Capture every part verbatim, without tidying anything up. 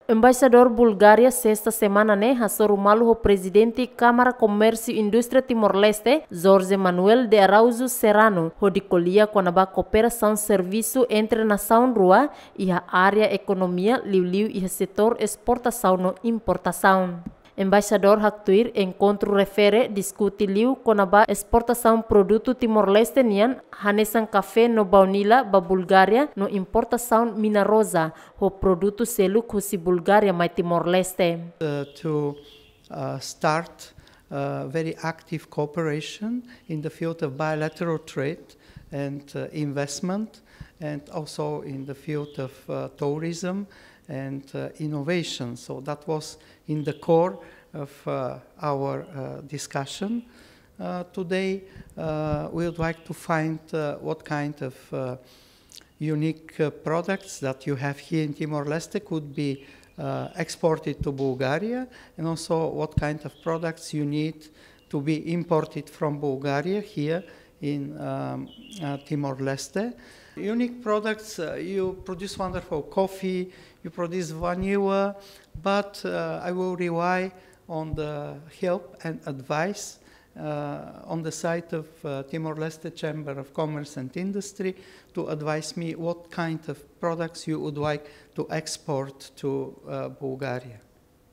Embaixadór Bulgária sesta semana ne'e hasoru malu ho Prezidente Kámara Komérsiu Indústria Timor-Leste, Jorge Manuel de Araújo Serrano, hodi ko'alia kona-ba kooperasaun servisu entre nasaun rua iha área ekonomia, liuliu iha setór esportasaun no importasaun. Embaixadór haktuir enkontru refere diskute liu kona-ba esportasaun produtu Timor-Leste nian, hanesan kafé no baunila ba Bulgária no importasaun mina-roza ho produtu seluk husi Bulgária mai Timor-Leste. Uh, to uh, start uh, very active cooperation in the field of bilateral trade and uh, investment, and also in the field of uh, tourism and uh, innovation. So that was in the core of uh, our uh, discussion. Uh, today, uh, we would like to find uh, what kind of uh, unique uh, products that you have here in Timor-Leste could be uh, exported to Bulgaria, and also what kind of products you need to be imported from Bulgaria here in um, uh, Timor-Leste. Unique products, uh, you produce wonderful coffee, you produce vanilla, but uh, I will rely on the help and advice uh, on the site of uh, Timor-Leste Chamber of Commerce and Industry to advise me what kind of products you would like to export to uh, Bulgaria.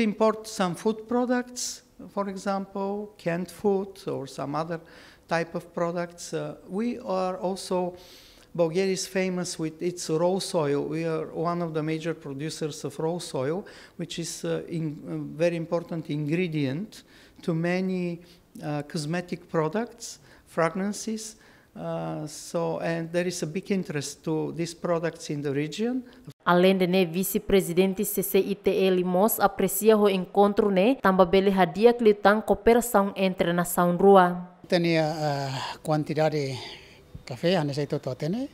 Import some food products, for example, canned food or some other type of products. Uh, we are also, Bulgaria is famous with its rose oil. We are one of the major producers of rose oil, which is uh, in, a very important ingredient to many uh, cosmetic products, fragrances. Uh, so, and there is a big interest to these products in the region. Aleinde ne'e, Vise-Prezidente C C I T L mós apresia ho enkontru ne'e, tanba bele hadi'a liután kooperasaun entre nasaun rua. Ita-nia uh, kuantidade kafé hanesan ita hotu hatene,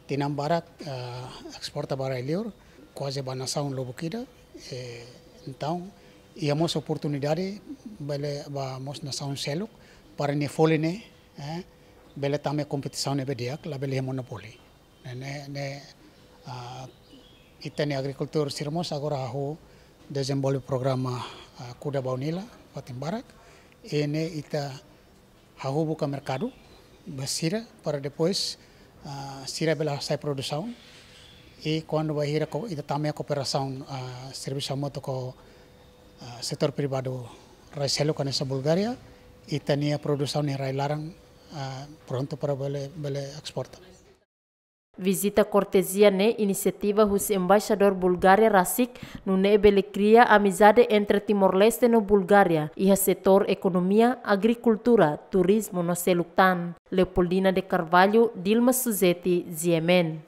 tinan barak uh, esporta ba rai-liur, kuaze ba nasaun lubuk ida. Eh, entaun, iha mós oportunidade bele ba mós nasaun seluk para nia folin ne'e eh, bele tama iha kompetisaun ne'ebé di'ak, labele iha monopoli. Ne'e, ne'e, ne'e uh, ita-nia agrikultór sira mós agora hahú dezenvolve programa uh, kuda baunila, fatin barak. I ne'e ita hahú buka merkadu ba sira para depois uh, sira bele hasai produsaun. I kuandu bainhira ita tama iha kooperasaun uh, servisu hamutuk ho uh, setór privadu rai seluk hanesan Bulgária, ita-nia produsaun iha rai-laran uh, prontu para bele, bele esporta. Vizita kortezia ne'e inisiativa husi Embaixadór Bulgária rasik, nune'e bele kria amizade entre Timor-Leste no Bulgária iha setór ekonomia, agrikultura, turizmu no seluk tan. Leopoldina de Carvalho, Dilma Suzeti, G M N.